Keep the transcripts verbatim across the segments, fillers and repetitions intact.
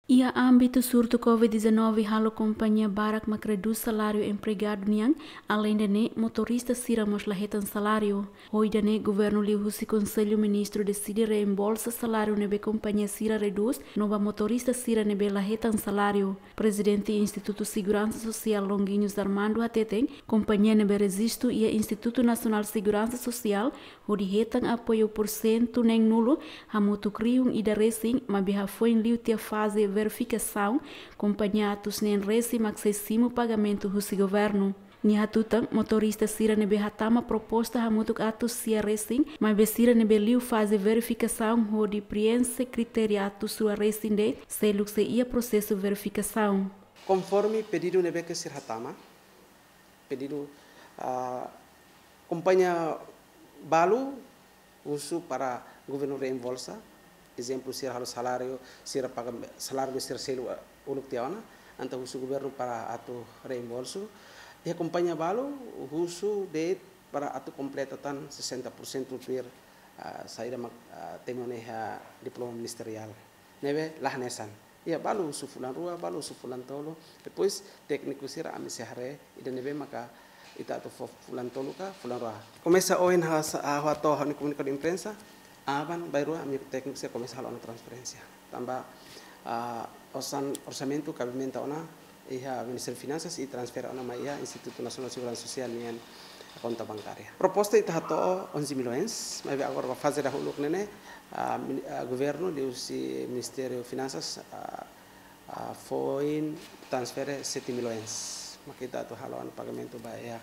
Iha ámbitu surtu covid dezanove halo kompañia barak mak redús saláriu empregadu nian, aleinde ne'e motorista sira mós la hetan saláriu. Ho ida-ne'e governu liuhusi Konsellu Ministru deside reembolsa saláriu ne'ebé kompañia sira redús, no ba motorista sira ne'ebé la hetan saláriu. Prezidente Institutu Seguransa Sosiál Longuinhos Armando hateten, kompañia ne'ebé rejistu iha Institutu Nasionál Seguransa Sosiál hodi hetan apoiu pursentu neen-nulu hamutuk rihun ida resin, maibé hafoin liu tiha faze verifikasaun, kompañia atus neen resin mak sei simu pagamentu husi governu. Nia hatutan, motorista sira ne'ebé hatama proposta hamutuk atus sia resin, maibé sira ne'ebé liu faze verifikasaun hodi prienxe kritéria atus rua resin de'it, seluk sei iha prosesu verifikasaun. Konforme pedidu ne'ebé ke sira hatama, pedidu, ah, kompañia balu husu para governu reembolsa. Ezemplu, sira halo saláriu, sira paga saláriu sira selu, ah, uluk tiha ona, entaun husu governu para atu reembolsu. Iha kompañia balu husu de'it para atu kompleta tan sesenta por cento tuir, ah, saida mak, ah, temi ona iha diploma ministeriál. Ne'ebé la hanesan. Iha balu husu fulan rua, balu husu fulan tolu. Depois tékniku sira ami sei haree ida ne'ebé maka ita atu fó fulan tolu ka fulan rua. Komesa ohin ha'u sa-, ha'u hato'o ha'u-nia komunikadu imprensa, aban-bainrua ami tékniku sira komesa halo ona transferénsia. Tanba, ah, orsan-, orsamentu kabimenta ona iha Ministériu Finansas i transfere ona mai iha Institutu Nasionál Seguransa Sosiál nian konta bankária. Proposta ita hato'o onze milhões, maibé agora ba faze dahuluk ne'e ne'e, ah, mini-, ah, governu liuhusi Ministériu Finansas, ah, ah, foin transfere sete milhões. Mak ita atu halo ona pagamentu ba iha,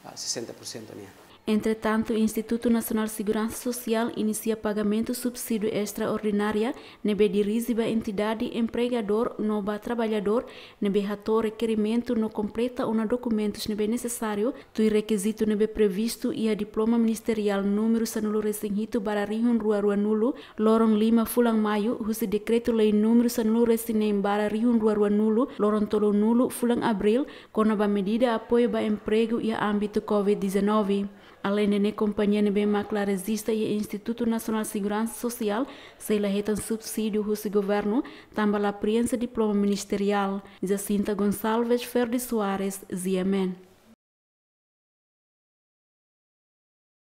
ah, sesenta por cento nian. Entretantu, Institutu Nasionál Seguransa Sosiál inisia pagamentu subsídiu estraordinária ne'ebé dirije ba entidade empregadór no ba traballadór ne'ebé hato'o rekerimentu no kompleta ona dokumentus ne'ebé nesesáriu, tuir rekizitu ne'ebé previstu iha diploma ministeriál númeru sanulu resin hitu barra rihun rua rua nulu, loron lima fulan Maiu, husi dekretu-lei númeru sanulu resin neen barra rihun rua rua nulu, loron tolu nulu fulan Abríl, kona-ba medida apoiu ba empregu iha ámbitu covid dezanove. Aleinde ne'e, kompañia ne'ebé mak la rejista iha Institutu Nasionál Seguransa Sosiál sei la hetan subsídiu husi governu, tanba la prienxe diploma ministeriál. Jacinta Gonçalves, Ferdi Soares, G M N.